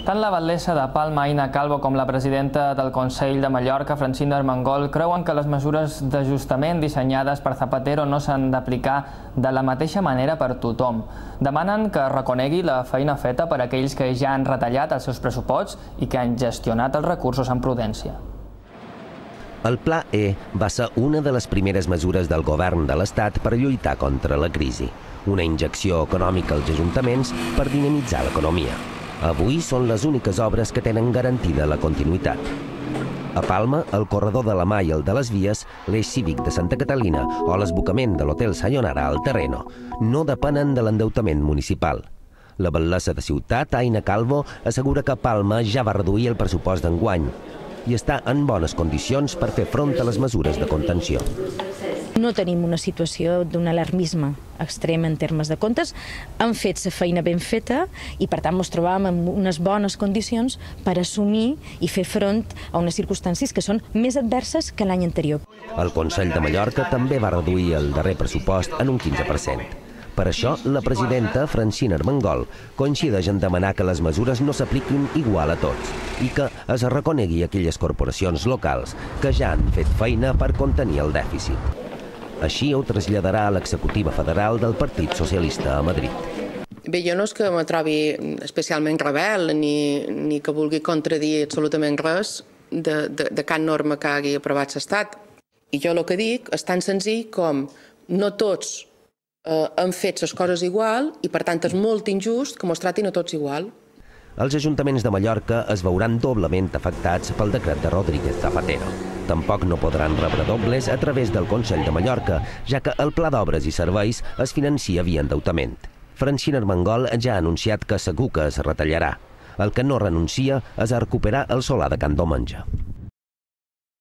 Tant la batllessa de Palma, Aina Calvo, com la presidenta del Consell de Mallorca, Francina Armengol, creuen que les mesures d'ajustament dissenyades per Zapatero no s'han d'aplicar de la mateixa manera per tothom. Demanen que reconegui la feina feta per aquells que ja han retallat els seus pressuposts i que han gestionat els recursos amb prudència. El Pla E va ser una de les primeres mesures del govern de l'Estat per lluitar contra la crisi. Una injecció econòmica als ajuntaments per dinamitzar l'economia. Avui són les úniques obres que tenen garantida la continuïtat. A Palma, el corredor de la Mà i el de les Vies, l'eix cívic de Santa Catalina o l'esbocament de l'Hotel Sayonara al Terreno no depenen de l'endeutament municipal. La batllessa de Ciutat, Aina Calvo, assegura que Palma ja va reduir el pressupost d'enguany i està en bones condicions per fer front a les mesures de contenció. No tenim una situació d'un alarmisme extrem en termes de comptes. Han fet la feina ben feta i, per tant, ens trobàvem en unes bones condicions per assumir i fer front a unes circumstàncies que són més adverses que l'any anterior. El Consell de Mallorca també va reduir el darrer pressupost en un 15%. Per això, la presidenta, Francina Armengol, coincideix en demanar que les mesures no s'apliquin igual a tots i que es reconegui aquelles corporacions locals que ja han fet feina per contenir el dèficit. Així ho traslladarà a l'executiva federal del Partit Socialista a Madrid. Bé, jo no és que me trobi especialment rebel ni que vulgui contradir absolutament res de cap norma que hagi aprovat l'Estat. I jo el que dic és tan senzill com no tots han fet les coses igual i, per tant, és molt injust que mos tratin a tots igual. Els ajuntaments de Mallorca es veuran doblement afectats pel decret de Rodríguez Zapatero. Tampoc no podran rebre dobles a través del Consell de Mallorca, ja que el Pla d'Obres i Serveis es financia via endeutament. Francina Armengol ja ha anunciat que segur que es retallarà. El que no renuncia és a recuperar el solar de Can Domenge.